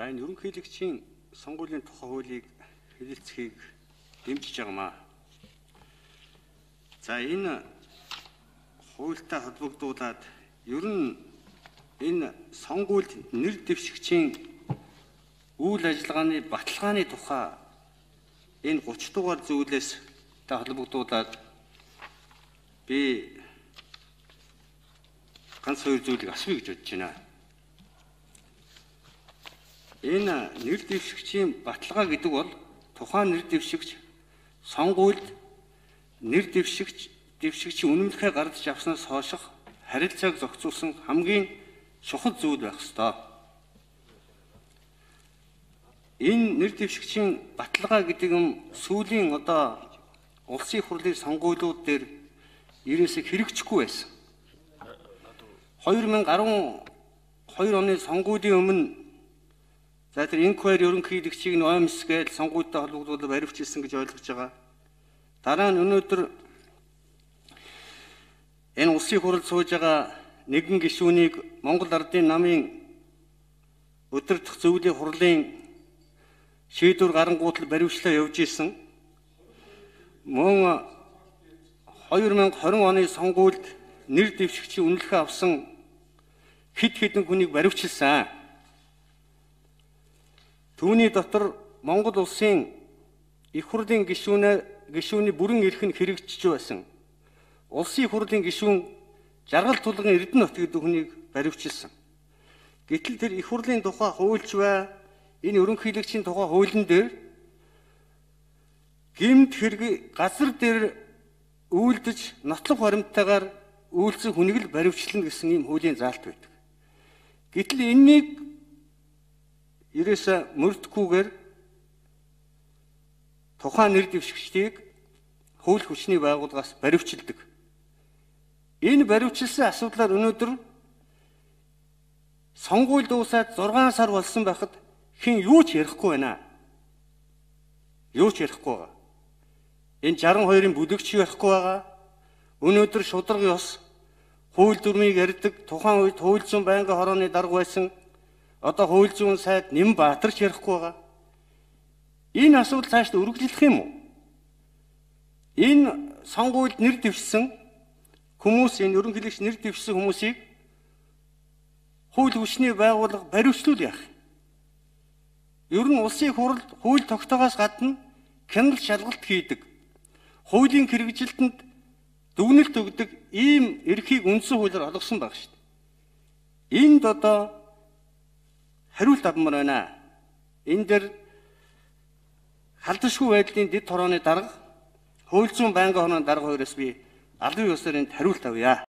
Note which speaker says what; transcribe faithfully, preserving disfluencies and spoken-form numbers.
Speaker 1: За энэ ерөнхийлөгчийн сонгуулийн тухай хуулийг хэлэлцэхийг дэмжиж байгаамаа. За энэ хуультай холбогдуулаад ер нь энэ сонгуульд нэр дэвшигчийн үйл ажиллагааны баталгааны тухай энэ гурван дугаар зүйлээс та холбогдуулаад би ганц хоёр зүйлийг асууя гэж бодож байна. Энэ нэр дэвшигчийн баталгаа гэдэг бол тухайн нэр дэвшигч сонгуульд нэр дэвшигч дэвшигчийн үнэмлэхээ гардаж авснаас хойших харилцааг зохицуулсан хамгийн чухал зүйл байх ёстой. Энэ нэр дэвшигчийн баталгаа гэдэг нь сүүлийн одоо улсын хурлын сонгуулиуд дээр ерөөсөө хэрэгжихгүй байсан. две тысячи десять оны сонгуулийн өмнө за тэр инквайри ерөнхийлөгчийг нь ОМС гэж сонгуультай холбогдуулаад баривчилсан гэж ойлгож байгаа. Дараа нь өнөөдөр энэ улсын хурлд сууж байгаа нэгэн гишүүнийг Монгол Ардын намын өдөртөх зөвлөлийн хурлын шийдвэр гарангуутал баривчлаа явж исэн. Мөн две тысячи двадцать оны сонгуульд нэр дэвшигчийн үнэлгээ авсан хэд хэдэн хүнийг баривчилсан. Түүний дотор Монгол улсын их хурлын гишүүнээ гишүүний бүрэн эрх нь хэрэгжиж байсан. Улсын хурлын гишүүн Жаргал Тулгын Эрдэнэт гэдэг хүнийг баривчилсан. Гэтэл тэр их хурлын тухай хуульч бай энэ ерөнхийлөгчийн тухай хуулийн дээр гэмт хэрэг газар дээр үйлдэж нотлох баримттайгаар үйлцэн хүнийг л баривчлана гэсэн ийм хуулийн заалт байдаг. Гэтэл энэнийг ерөөсө мөрдөхгүйгээр тухайн нэр дэвшигчдийг хууль хүчний байгууллагаас баривчилдаг. Энэ баривчилсан асуудлаар өнөөдөр сонгуул дуусаад зургаан сар болсон байхад хэн юу ч ярихгүй байна. Юу ч ярихгүй байгаа. Энэ шестьдесят two-ын бүлэгч ярихгүй байгаа. Өнөөдөр шударга ёс хууль дүрмийг ярьдаг тухайн үед хууль зүйн байнгын хорооны дарга байсан одоо хууль зүйн сайд Нэмбаатар ч ярихгүй байгаа. Энэ асуудал цаашдаа үргэлжлэх юм уу? Энэ сонгуульд нэр дэвшсэн хүмүүс, энэ ерөнхийлөгч нэр дэвшсэн хүмүүсийг хууль хүчний байгууллага баривчлуул яах? Ер нь улсын хурлд хууль тогтоогоос гадна хяналт шалгалт хийдэг. Хуулийн хэрэгжилтэнд дүгнэлт өгдөг ийм эрхийг үндсэн хуулиар олгосон баг шүү дээ. Энд одоо хариулт авмаар байна. Энэ дээр халдшгүй байдлын дэд хорооны дарга, хууль зүйн байнгын хорооны дарга хоёроос би албан ёсоор энд хариулт авъя.